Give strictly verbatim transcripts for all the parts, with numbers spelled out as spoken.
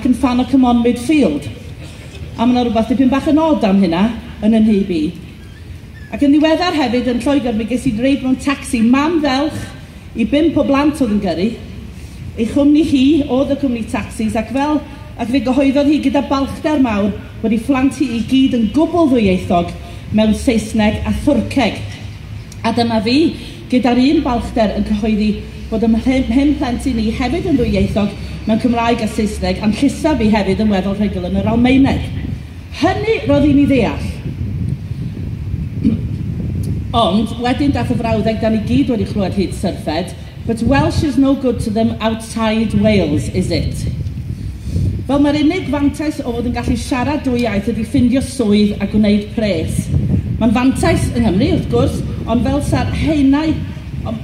ac yn ffan o Come On Midfield. A mae yna rhywbeth dipyn bach yn od am hynna yn 'y nhyb i. Ac yn ddiweddar hefyd yn Lloegr, mi ges i reid mewn tacsi mam felch i bump o blant oedd yn gyrru. Ei chwmni hi oedd y cwmni tacsis, ac fel ac fe gyhoeddodd hi gyda balchder mawr bod ei phlant hi i gyd yn gwbl ddwyieithog mewn Saesneg a Thwrceg. A dyma fi gyda'r un balchder yn cyhoeddi bod y mhum plentyn ni hefyd yn ddwyieithog mewn Cymraeg a Saesneg, a'n llusaf fi hefyd yn weddol rhugl yn yr Almaeneg. Hynny roedd i'n ei ddeall. Ond wedyn dath y frawddeg da ni gyd wedi chlywed hyd syrffed, "But Welsh is no good to them outside Wales, is it?" Fel mae'r unig fantais o fod yn gallu siarad dwy iaith ydy ffindio swydd a gwneud pres. Mae'n fantais yng Nghymru, wrth gwrs, ond fel sa'r haenau,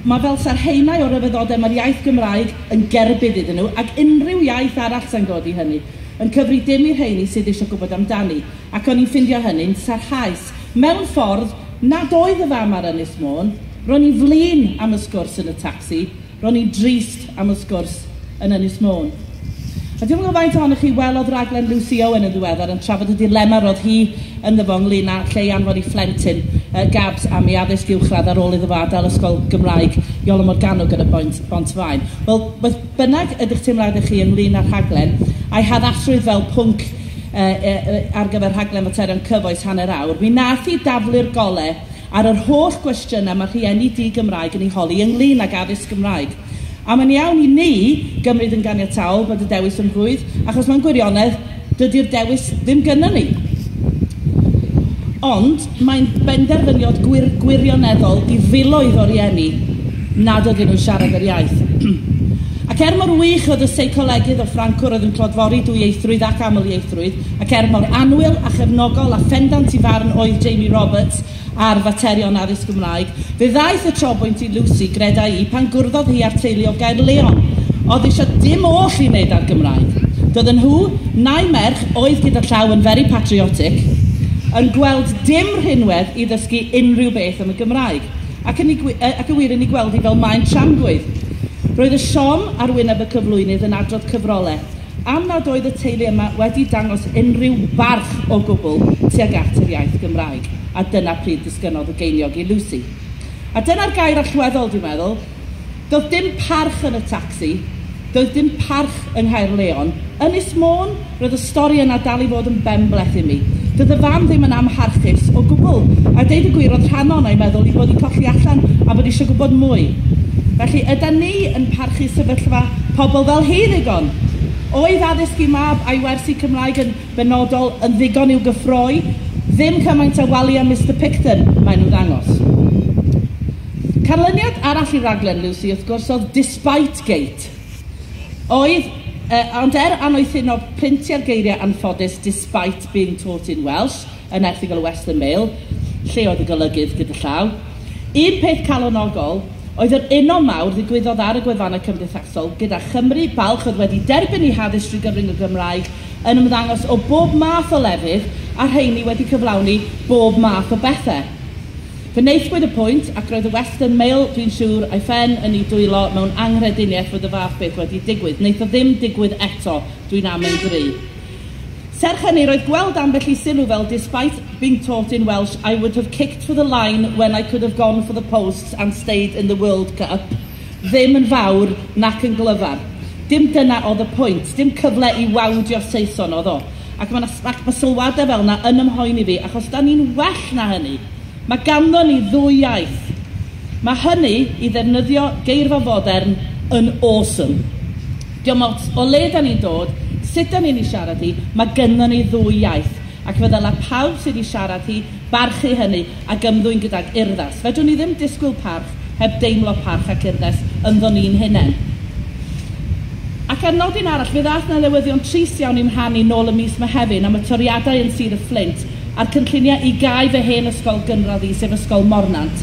mae fel sa'r haenau o ryfeddodau mae'r iaith Gymraeg yn gerbyd iddyn nhw, ac unrhyw iaith arall sy'n godi hynny, yn cyfri dim i'r rheini sydd eisiau gwybod amdani. Ac o'n i'n ffindio hynny'n sarhaus. Mewn ffordd nad oedd y fam ar Ynys Môn, ro'n i'n flin am y sgwrs yn y tacsi, ro'n i'n drist am y sgwrs yn Ynys Môn. A dwi'm yn gwybod faint ohonoch chi welodd raglen Lucy Owen yn ddiweddar yn trafod y dilema roedd hi ynddo fo ynglyn â lle i anfon ei phlentyn uh, Gabs am ei addysg uwchradd ar ôl iddo fo adael ysgol Gymraeg Iolo Morganwg yn y Bont, Bont-faen. Wel, beth bynnag ydych teimladau chi ynglyn â'r rhaglen, a'i haddasrwydd fel pwnc uh, uh, ar gyfer rhaglen materion cyfoes hanner awr, mi nath hi daflu'r gole ar yr holl gwestiynau mae rhieni di-Gymraeg yn ei holi ynglyn ag addysg Gymraeg. A mae'n iawn i ni gymryd yn ganiataol bod y dewis yn rhwydd, achos mae'n gwirionedd dydy'r dewis ddim gynnon ni. Ond mae'n benderfyniad gwir, gwirioneddol i filoedd o rieni nad ydyn nhw'n siarad yr iaith. Ac er mor wych oedd y seicolegydd o Ffrancwr oedd yn clodfori dwyieithrwydd ac amlieithrwydd, ac er mor annwyl a chefnogol a phendant i farn oedd Jamie Roberts ar faterion addysg Gymraeg, fe ddaeth y trobwynt i Lucy, greda i, pan gwrddodd hi â'r teulu o Gaerleon, oedd eisiau dim oll i wneud â'r Gymraeg. Doedden nhw, nau merch, oedd gyda llaw yn very patriotic, yn gweld dim rhinwedd i ddysgu unrhyw beth am y Gymraeg, ac yn, ei, ac yn wir yn ei gweld hi fel maen tramgwydd. Roedd y siom ar wyneb y cyflwynydd yn adrodd cyfrolau, am nad oedd y teulu yma wedi dangos unrhyw barch o gwbl tuag at yr iaith Gymraeg. A dyna pryd disgynnodd y geiniog i Lucy. A dyna'r gair allweddol, dwi'n meddwl. Doedd dim parch yn y tacsi, doedd dim parch yng Nghaerleon. Ynys Môn, roedd y stori yna dal i fod yn benbleth i mi. Doedd y fam ddim yn amharchus o gwbl. A deud y gwir, oedd rhan ohono i'n meddwl i bod i colli allan a bod eisiau gwybod mwy. Felly, ydy ni yn parchu sefyllfa pobl fel hi ddigon? Oedd addysg i mab a'i wersi Cymraeg yn benodol yn ddigon i'w gyffroi? Ddim cymaint o Wally a Mister Picton, maen nhw ddangos. Canlyniad arall i raglen Lucy, wrth gwrs, oedd Despite Gate. Oedd, eh, ond er annoethineb printio'r geiriau anffodus "despite being taught in Welsh" yn erthygl y Western Mail, lle oedd y golygydd gyda llaw. Un peth calonogol oedd yr uno mawr ddigwyddodd ar y gwefannau cymdeithasol gyda Chymru balch oedd wedi derbyn eu haddysg drwy gyfrwng y Gymraeg yn ymddangos o bob math o lefydd a rheini wedi cyflawni bob math o bethau. Fe wnaethpwyd y pwynt, ac roedd y Western Mail, dwi'n siŵr, a'i phen yn ei dwylo mewn anghrediniaeth fod y fath beth wedi digwydd. Wnaeth o ddim digwydd eto, dwi'n amau'n gry. Serch hynny, roedd gweld ambell i sylw fel "Despite being taught in Welsh, I would have kicked for the line when I could have gone for the posts and stayed in the World Cup" ddim yn fawr nac yn glyfar. Dim dyna oedd y pwynt, dim cyfle i wawdio Saeson oedd o. Ac mae, ac mae sylwadau fel yna yn ymhoeni fi, achos da ni'n well na hynny. Mae ganddo ni ddwy iaith. Mae hynny, i ddefnyddio geirfa fodern, yn awesome. Diolch ots o le da ni'n dod, sut da ni'n ei siarad hi, mae gynnon ni ddwy iaith. Ac fe ddylai pawb sydd wedi siarad hi barchu hynny ac ymddwyn gydag urddas. Fedrwn ni ddim disgwyl parch heb deimlo parch ac urddas ynddo ni'n hunain. Ac ar nodyn arall, fe ddaeth 'na newyddion trist iawn i'm rhan i nôl y mis Mehefin am y toriadau yn Sir y Fflint a'r cynlluniau i gau fy hen ysgol gynradd i, sef Ysgol Mornant.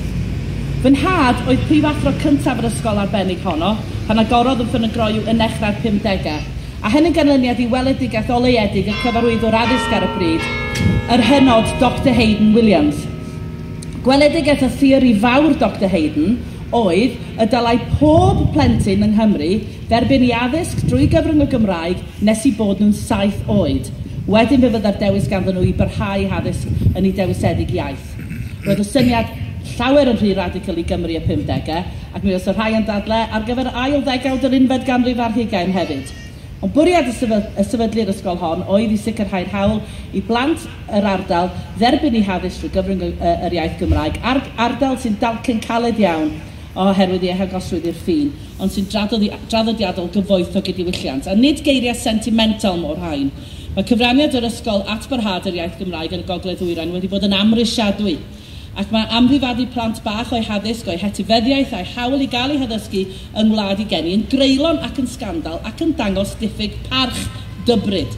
Fy nhad oedd prifathro cyntaf yr ysgol arbennig honno, pan agorodd yn Ffynon yn nechrau'r pumdegau. A hyn yn ganlyniad i weledigaeth oleuedig y cyfarwyddwr addysg ar y pryd, yr hynod Doctor Hayden Williams. Gweledigaeth y theori fawr Doctor Hayden oedd y dylai pob plentyn yng Nghymru dderbyn i addysg drwy gyfrwng y Gymraeg nes i bod nhw'n saith oed. Wedyn fe fydda'r dewis ganddyn nhw i barhau addysg yn eu dewisedig iaith. Roedd y syniad llawer yn rhy radical i Gymru y pumdegau, ac mi oedd y rhai yn dadle ar gyfer ail ddegawd yr unfed ganrif ar hugain hefyd. Ond bwriad y sefydlu'r ysgol hon oedd i sicrhau'r hawl i blant yr ardal dderbyn eu haddysg drwy gyfrwng yr iaith Gymraeg, ar ardal sy'n dalcen caled iawn oherwydd ei hagosrwydd i'r ffin, ond sy'n draddodiadol gyfoethog i diwylliant, a nid geiriau sentimental mo'r rhain. Mae cyfraniad yr ysgol at barhad yr iaith Gymraeg yn y Gogledd Ddwyrain wedi bod yn amhrisiadwy, ac mae amddifadu plant bach o'i haddysg, o'i hetifeddiaeth a'i hawl i gael ei haddysgu yng ngwlad i geni yn greulon ac yn sgandal ac yn dangos diffyg parch dybryd.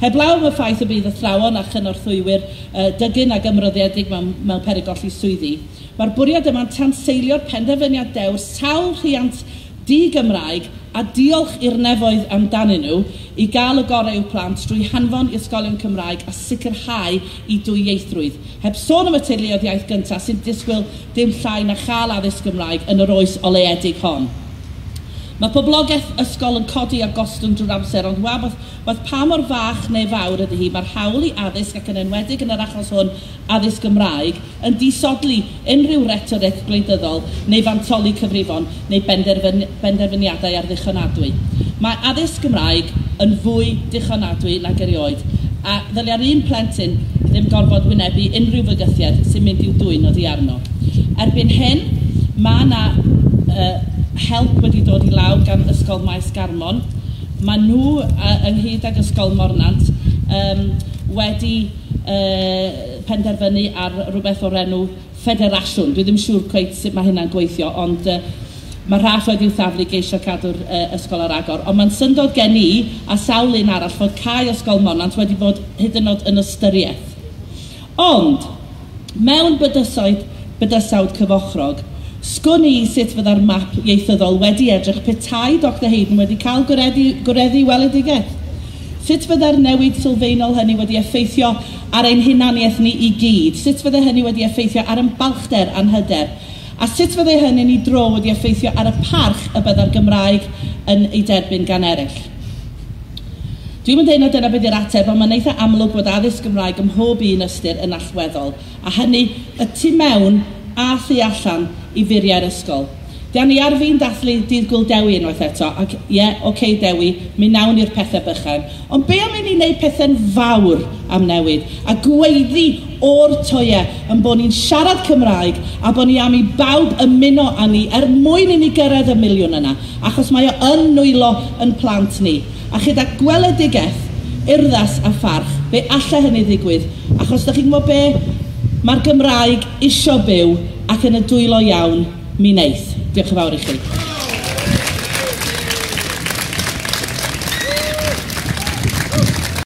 Heblaw am y ffaith y bydd athrawon a chynorthwywyr uh, dygyn ac ymroddiedig mewn, mewn peryg golli swyddi, mae'r bwriad yma'n tanseilio'r penderfyniad dewr sawl rhiant di-Gymraeg a diolch i'r nefoedd amdanyn nhw i gael y gorau i'w plant drwy hanfon i ysgolion Cymraeg a sicrhau i dwyieithrwydd. Heb sôn am y teuluoedd iaith gyntaf sy'n disgwyl dim llai na chael addysg Gymraeg yn yr oes oleuedig hon. Mae poblogaeth ysgol yn codi a gostwng drwy'r amser, ond waeth, waeth pa mor fach neu fawr ydy hi, mae'r hawl i addysg ac yn enwedig yn yr achos hwn addysg Gymraeg yn disodli unrhyw rhetoric gwleidyddol neu fantoli cyfrifon neu benderfyn, benderfyniadau ar ddichonadwy. Mae addysg Gymraeg yn fwy dichonadwy nag erioed, a ddylia'r un plentyn ddim gorfod wynebu unrhyw fygythiad sy'n mynd i'w dwyn oddi arno. Erbyn hyn, mae yna uh, help wedi dod i lawr gan Ysgol Maes Garmon. Mae nhw, uh, ynghyd ag Ysgol Mornant, um, wedi uh, penderfynu ar rhywbeth o'r enw ffederasiwn. Dwi ddim siŵr cweit sut mae hynna'n gweithio, ond uh, mae rhaff wedi'w thaflu geisio cadw'r uh, ysgol ar agor. Ond mae'n syndod gen i a sawl un arall fod cau Ysgol Mornant wedi bod hyd yn oed yn ystyriaeth. Ond, mewn bydysoedd, bydysawd cyfochrog, sgwn i sut fydda'r map ieithyddol wedi edrych petai Doctor Heydon wedi cael gwireddu, gwireddu weledigaeth. Sut fydda'r newid sylfaenol hynny wedi effeithio ar ein hunaniaeth ni i gyd? Sut fydda hynny wedi effeithio ar ein balchder a'n hyder? A sut fydda hynny'n ei dro wedi effeithio ar y parch y bydda'r Gymraeg yn ei derbyn gan eraill? Dwi'n mynd deud na dyna beth yw'r ateb, ond mae'n eitha amlwg bod addysg Gymraeg ym mhob un ystyr yn allweddol, a hynny y tu mewn a thu allan i furiau'r ysgol. Dan ni ar fin dathlu Dydd Gŵyl Dewi unwaith eto, ac ie, yeah, oce okay, Dewi, mi nawn ni'r pethau bychain. Ond be am i ni wneud pethau'n fawr am newid, a gweiddi o'r toiau yn bod ni'n siarad Cymraeg a bod ni am i bawb ymuno â ni er mwyn i ni gyrraedd y miliwn yna, achos mae o yn nwylo yn plant ni. A chyda gweledigaeth, urddas a pharch, fe allai hynny ddigwydd, achos da chi'n gwybod be? Mae'r Gymraeg isio byw ac yn y dwylo iawn mi wneith. Diolch yn fawr i chi.